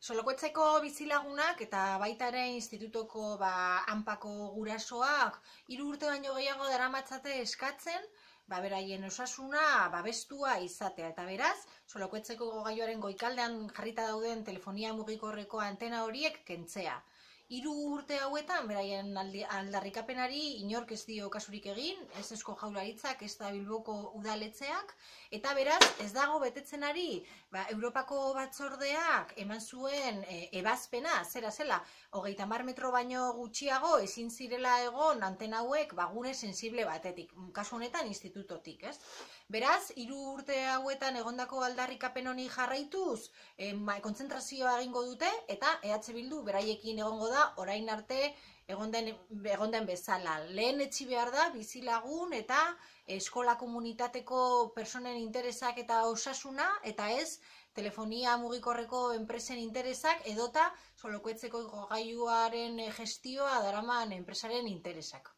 Solokoetzeko bizilagunak eta baita ere institutoko hanpako gurasoak 3 urte baino gehiago daramatzate eskatzen beraien osasuna babestua izatea. Eta beraz, Solokoetzeko gailuaren goikaldean jarrita dauden telefonia mugikorreko antena horiek kentzea. 3 urte hauetan, beraien aldarrikapenari inork ez dio kasurik egin, ez Eusko Jaurlaritzak, ez da Bilboko udaletxeak, eta beraz, ez dago betetzen ari, Europako batzordeak eman zuen ebazpena, zela, 30 metro baino gutxiago ezin zirela egon antena hauek gune sensible batetik, kasu honetan institutotik, ez? Beraz, 3 urte hauetan egondako aldarrikapen honi jarraituz, kontzentrazioa egingo dute, eta EH Bildu beraiekin egongo da, orain arte egon den bezala. Lehen etxi behar da bizilagun eta eskola komunitateko personen interesak eta osasuna, eta ez telefonia mugikorreko enpresen interesak edota Solokoetzeko gailuaren gestioa daraman enpresaren interesak.